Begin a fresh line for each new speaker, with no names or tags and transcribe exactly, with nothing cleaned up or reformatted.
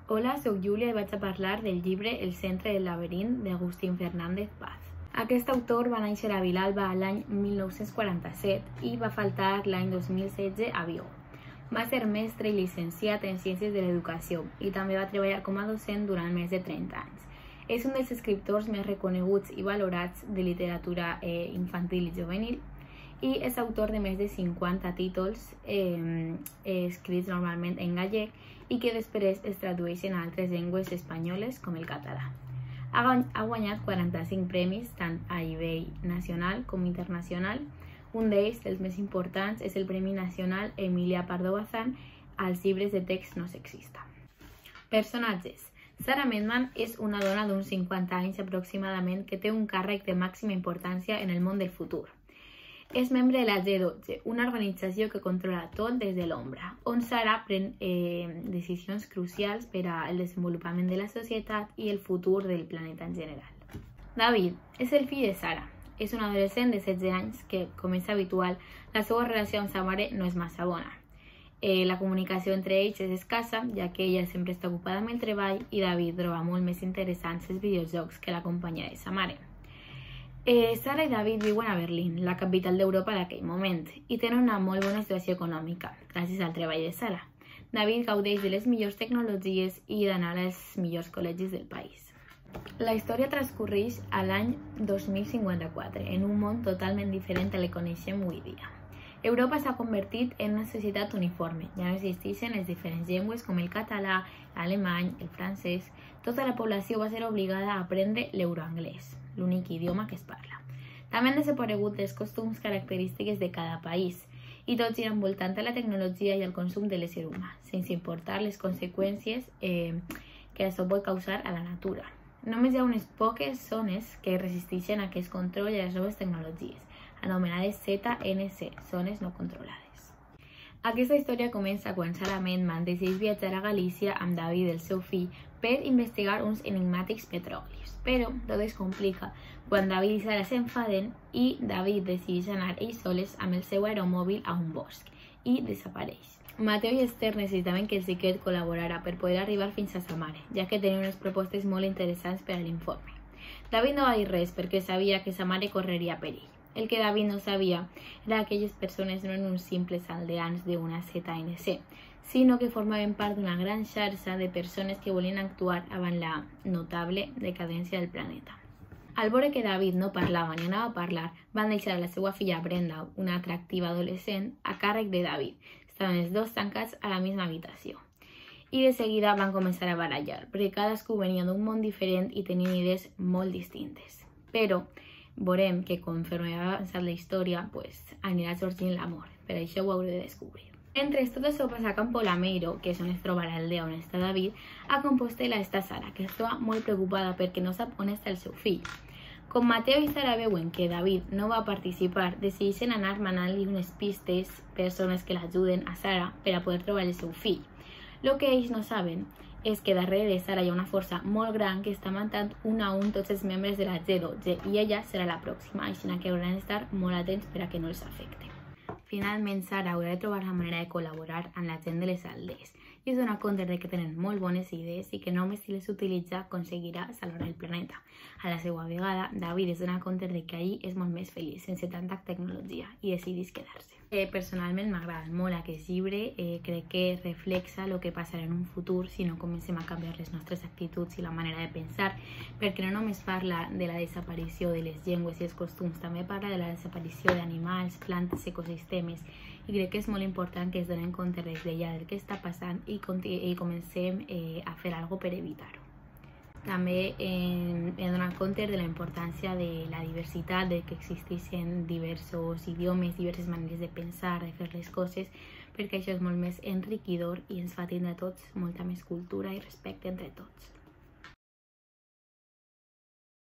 Hola, soc Júlia i vaig a parlar del llibre El centre del laberint d'Agustín Fernández Paz. Aquest autor va néixer a Vilalba l'any mil nou-cents quaranta-set i va faltar l'any dos mil setze a Vigo. Va ser mestre i llicenciat en Ciències de l'Educació i també va treballar com a docent durant més de trenta anys. És un dels escriptors més reconeguts i valorats de literatura eh, infantil i juvenil i és autor de més de cinquanta títols eh, escrits normalment en gallec i que després es tradueixen a altres llengües espanyoles com el català. Ha guanyat quaranta-cinc premis tant a nivell nacional com internacional. Un d'ells, dels més importants, és el Premi Nacional Emilia Pardo Bazán als llibres de text no sexista. Personatges. Sarah Medman és una dona d'uns cinquanta anys aproximadament que té un càrrec de màxima importància en el món del futur. És membre de la G dotze, una organització que controla tot des de l'ombra, on Sarah pren eh, decisions crucials per al desenvolupament de la societat i el futur del planeta en general. David és el fill de Sarah. És un adolescent de setze anys que, com és habitual, la seva relació amb sa mare no és massa bona. Eh, la comunicació entre ells és escassa, ja que ella sempre està ocupada amb el treball i David troba molt més interessants els videojocs que la companyia de sa mare. Eh, Sarah i David viuen a Berlín, la capital d'Europa d'aquell moment, i tenen una molt bona situació econòmica, gràcies al treball de Sarah. David gaudeix de les millors tecnologies i d'anar als millors col·legis del país. La història transcorreix a l'any dos mil cinquanta-quatre, en un món totalment diferent al que coneixem avui dia. Europa s'ha convertit en una societat uniforme, ja no existeixen les diferents llengües com el català, l'alemany, el francès. Tota la població va ser obligada a aprendre l'euroanglès, l'únic idioma que es parla. També han desaparegut els costums característiques de cada país i tots giren voltant a la tecnologia i al consum de l'ésser humà, sense importar les conseqüències eh, que això pot causar a la natura. Només hi ha unes poques zones que resisteixen a aquest control i a les noves tecnologies, anomenades Z N C, zones no controlades. Aquesta història comença quan Sarah Medman decideix viatjar a Galícia amb David, el seu fill, per investigar uns enigmàtics petrolis. Però tot es complica quan David i Sarah s'enfaden i David decideix anar ells soles amb el seu aeromòbil a un bosc i desapareix. Mateo i Esther necessitaven que el xiquet col·laborara per poder arribar fins a sa mare, ja que tenia unes propostes molt interessants per a l'informe. David no va dir res perquè sabia que sa mare correria perill. El que David no sabia era que aquelles persones no eren uns simples aldeans d'una Z N C, sinó que formaven part d'una gran xarxa de persones que volien actuar davant la notable decadència del planeta. Al veure que David no parlava ni anava a parlar, van deixar la seva filla Brenda, una atractiva adolescent, a càrrec de David. Estaven els dos tancats a la misma habitació. I de seguida van començar a barallar, perquè cadascú venia d'un món diferent i tenien idees molt distintes. Però veurem que conforme va avançar la història, pues, anirà sorgint l'amor. Per això ho hauré de descobrir. Mentre tot això passa a Campo Lameiro, que és on es troba l'aldea on està David, a Compostela està Sara, que es troba molt preocupada perquè no sap on està el seu fill. Com Mateo i Sara veuen que David no va participar, decideixen anar manant-li unes pistes, persones que l'ajuden a Sara per a poder trobar el seu fill. El que ells no saben és que darrere de Sara hi ha una força molt gran que està matant un a un tots els membres de la G dotze i ella serà la pròxima, així que hauran d'estar molt atents per a que no els afecti. Finalment, Sara haurà de trobar la manera de col·laborar amb la gent de les aldees i es dona compte de que tenen molt bones idees i que només si les utilitza aconseguirà salvar el planeta. A la seva vegada, David es dona compte de que allí és molt més feliç, sense tanta tecnologia, i decideix quedar-se. Eh, personalment m'agrada molt aquest llibre, eh, crec que reflexa el que passarà en un futur si no comencem a canviar les nostres actituds i la manera de pensar, perquè no només parla de la desaparició de les llengües i els costums, també parla de la desaparició d'animals, plantes, ecosistemes, i crec que és molt important que es donem compte des d'ella del que està passant i, i comencem eh, a fer alguna cosa per evitar-ho. També eh, he donat compte de la importància de la diversitat, de que existeixen diversos idiomes, diverses maneres de pensar, de fer les coses, perquè això és molt més enriquidor i ens fa tindre tots molta més cultura i respecte entre tots.